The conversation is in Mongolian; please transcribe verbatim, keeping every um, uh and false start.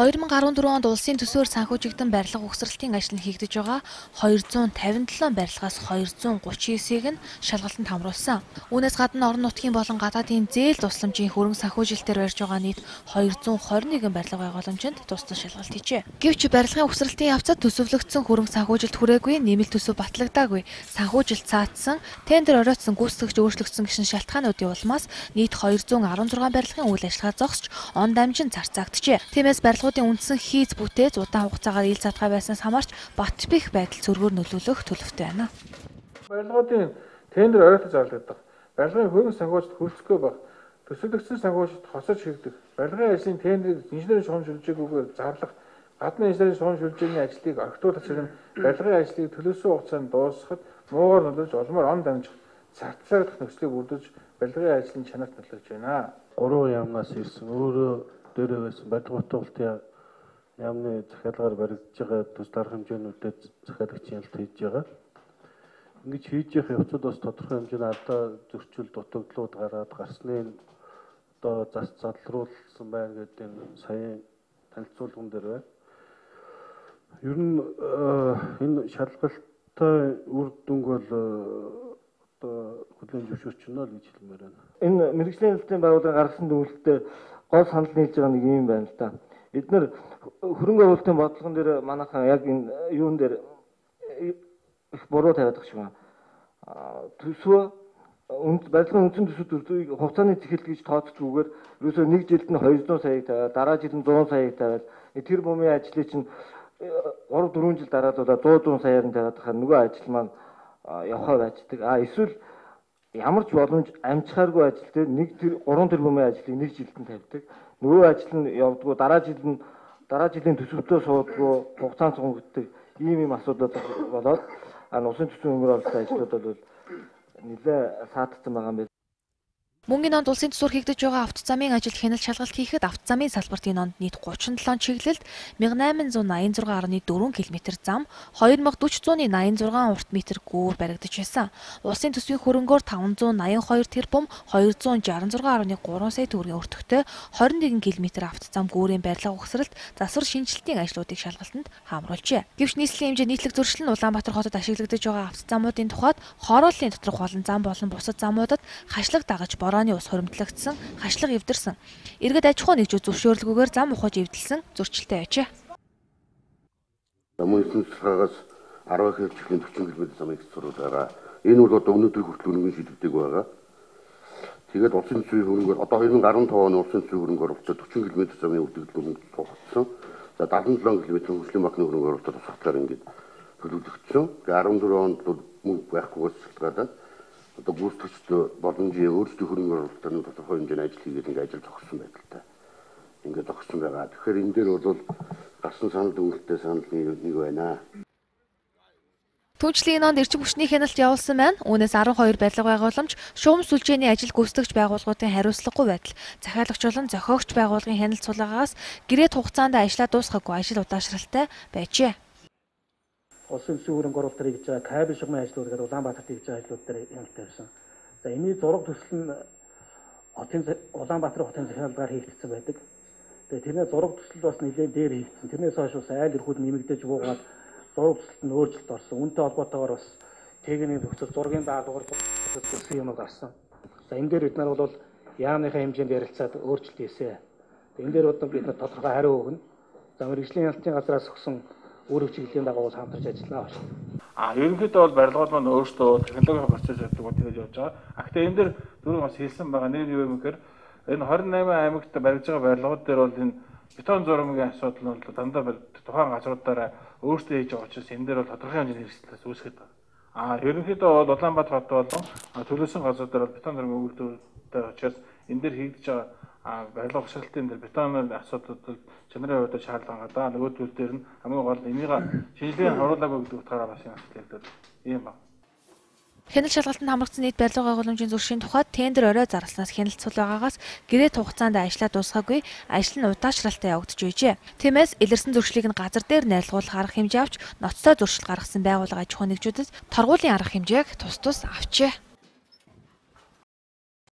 хоёр мың арван дөрвөн онд улсын төсвөөр санхүүжигдэн барилга угсралтын ажил нь хийгдэж байгаа хоёр зуун тавин долоо барилгаас хоёр зуун гучин девятийг нь шалгалтанд хамруулсан. Үүнээс гадна орон нутгийн болон гадаадын зээл тусламжийн хөрөнгө санхүүжилтээр барьж байгаа нийт хоёр зуун хорин нэгэн барилга байгууламжинд тус тус шалгалт хийжээ. Гэвч барилгын угсралтын явцад төсөвлөгдсөн хөрөнгө санхүүжилт хүрээгүй, нэмэлт төсөв батлагдаагүй, санхүүжилт цаатсан, тендер оройтсон гүйцэтгэгч өөрчлөгдсөн гişн шалтгаануудын улмаас нийт хоёр зуун арван зургаан барилгын үйл ажиллагаа зогсож он дамжин зарцаагджээ. Тиймээс барилгуудын үндсэн хийц бүтээц удаан хугацаагаар ил задгаа байснаас хамаарч бат бих байдал зөргөөр нөлөөлөх төлөвтэй байна. Барилгуудын тендер оройтож зарлагдах, барилгын хөрөнгө санхүүжилт хүрдэхгүй байх, төсөвлөгдсөн санхүүжилт хосож хийгдэх, барилгын ажлын тендерийг инженерийн шугам шилжээгүйгээр зарлах, гадны инженерийн шугам шилжээний ажлыг огтуулах зэрэг барилгын ажлыг төлөвлөсөн хугацаанд дуусгахад муугаар нөлөөлж улмаар он дамжих, царталагдах нөхцөлийг бүрдүүлж барилгын ажлын чанарт нөлөөлж байна. Гурван яамнаас ирсэн өөрөө дээрээ байсан барилга утгуулалтын яамны захиалгаар баригдаж байгаа төс дарга хэмжээнүүдэд захиалагч ялт хийж байгаа. Ингэж хийж явах явцад бас тодорхой хэмжээний алдаа зөрчил дутагдлууд гараад гарсныг одоо зас залруулсан байна гэдэг энэ саяын танилцуулган дээр байна. Ер нь энэ шалгалттай үр дүнг бол одоо хөдөлгөөн зөвшөөрч байна л гэж хэлмээр байна. Энэ мэрэгжлийн хэлтийн байгууллагын гаргасан дүгнэлтээр гол санал нийлж байгаа нэг юм байна л да. Эдгээр хөрөнгө оруулалтын бодлогон дээр манайхан яг энэ юун дээр их буруу тавиад байгаа юм. Төсвөө барилгын үндсэн төсвүүд хугацааны цэхэл гэж тооцохгүйгээр ерөөсөө нэг жилд нь хоёр зуун саяг тавиад, дараа жилд нь зуун саяг тавиад, тэр бумын ажлыг чинь гурав дөрвөн жил дараалуулаад сто зуун саяар нь тавиад хахаар нөгөө ажил маань явахаа байждаг. А эсвэл ямар ч боломж амжихааргүй ажил дээр нэг тэр гурван тэрбумын ажлыг нэг жилд нь тавьдаг. Нөгөө ажил нь явдггүй, дараа жилд нь дараа жилийн төсөвтөө суудгүй, хугацаанд сунгагддаг ийм ийм асуудал болоод а усын төсвийн хөнгөр оруулалтын ажлууд бол нэлээ саатсан байгаа юм байна. Мөнгөний онд улсын төсвөр хийгдэж байгаа автозамын ажил хяналт шалгалт хийхэд автозамын салбарт энэ онд нийт гучин долоо чиглэлд мянга найман зуун наян зургаан гаруй дөрвөн километр зам, хоёр мянга дөрвөн зууны наян зургаан урт метр гүүр баригдаж байсан. Улсын төсвийн хөрөнгөөр таван зуун наян хоёр тэрбум, хоёр зуун шестдесет и шесть гаруй гурван сая төгрөгийн өртөгтэй хорин нэгэн километр автозам гүүрийн барилга угсралт, засвар шинжилтийн ажлуудыг шалгалтанд хамруулжээ. Гэвч нийслэлийн хэмжээ нийтлэг зөрчил нь Улаанбаатар хотод ашиглагдаж байгаа автозамуудын тухайд хорооллын доторх олон зам болон бусад замуудад хашлаг дагаж борооны ус хуримтлагдсан, хашлаг эвдэрсэн. Иргэд аж ахуй нэгжүүд зөвшөөрлгүйгээр зам ухаж эвдэлсэн зөрчилтэй байжээ. Замын цэцгээс арван хэвчлийн дөрвөн километр замыг цэцрүүл байгаа. Энэ бол одоо өнөөдөр хүртэл өргөн шийдвэрдэг байгаа. Тэгээд улсын төсвийн хөрөнгөөр одоо хоёр мың арван таван оны улсын төсвийн хөрөнгөөр дөрвөн километр замын үлдэгдэл тусгагдсан. За дадлан долоо километр хөгжлийн банкны хөрөнгөөр тусгахлаар ингээд төлөвлөгдсөн. Тэгээд арван дөрвөн онд мөнгө байхгүйгээс шалтгаалаад одоо гүйцэтгэгч боломжийн өөрсдийн хөрөнгө оруулалтын тодорхой хэмжээний ажил хийгээд ингээд ажил зогссон байдалтай. Ингээд зогссон байгаа. Тэгэхээр энэ дээр бол гарсан санал дүгнэлттэй санал нэг байна. Түүнчлэн энэ онд эрчим хүчний хяналт явуулсан байна. Үүнээс арван хоёр барилга байгууламж, шугам сүлжээний ажил гүйцэтгэгч байгууллагуудын хариуцлагагүй байдал, захиалагч болон зохиогч байгууллагын хяналт сулаагаас гэрээт хугацаанд ажиллаа дуусгаагүй ажил удаашралтай байжээ. Улсын төсвийн хөрөнгө оруулалт хийж байгаа кабель шугамын ажлууд гэдэг Улаанбаатарт хийж байгаа ажлууд дээр хяналттай байсан. За энэний зураг төсөл нь хотын Улаанбаатар хотын захиалгаар хийгдсэн байдаг. Тэгээ тэрний зураг төсөл бас нэлээд дээр хийгдсэн. Тэрнээс хойш бас айл эрхүүд нэмэгдэж буугаад зураг төсөлд нь өөрчлөлт орсон. Үүнтэй холбоотойгоор бас техникийн төгсөл зургийн даалгавар төсөл юм гарсан. За энэ дээр бид нар бол яамныхаа хэмжээнд ярилцаад өөрчлөлт хийсэн. Энэ дээр одоо бид тодорхой хариу өгнө. За мэргэжлийн хяналтын газраас өгсөн өөрөг чиглэлийн дагуу хамтарч ажиллана байна. А ерөнхийдөө бол барилгууд маань өөрсдөө технологийн процесс гэдэг нь тэгж явж байгаа. А гэхдээ энэ дээр түрүү бас хэлсэн байгаа нэг юу юм гэхээр энэ двадцать восемь аймагт баригдаж байгаа барилгууд дээр бол энэ бетон зурмгийн асуудал нь бол дандаа тухайн газруудаараа өөрсдөө хийж байгаа учраас энэ дээр бол тодорхой хэмжээний эрсдэлээс үүсгээд байна. А ерөнхийдөө бол Улаанбаатар хот болон төлөвлөсөн газруудаар бол бетон зурмгийн үйлдвэртэй учраас энэ дээр хийгдэж байгаа а барилга угсралтын дээр бетонын асуудал чанарын хувьд шаардлага гадаа нөгөө төл дээр нь хамгийн гол энийг шинжилгээ харуулаагүй гэдэг утгаараа бас юм асуудал ийм байна. Хяналт шалгалтанд хамрагдсан нийт барилга байгууламжийн зуршийн тухайд тендер орой зарласнаас хяналт сул байгаагаас гэрээт хугацаанд ажиллаа дуусгаагүй, ажил нь удаашралтай явагдаж байжээ. Тиймээс илэрсэн зөрчлийг нь газар дээр найрлагуулах арга хэмжээ авч ноцтой зөрчил гаргасан байгууллага аж ахуй нэгжүүдэд торгуулийн арга хэмжээг тус тус авчээ.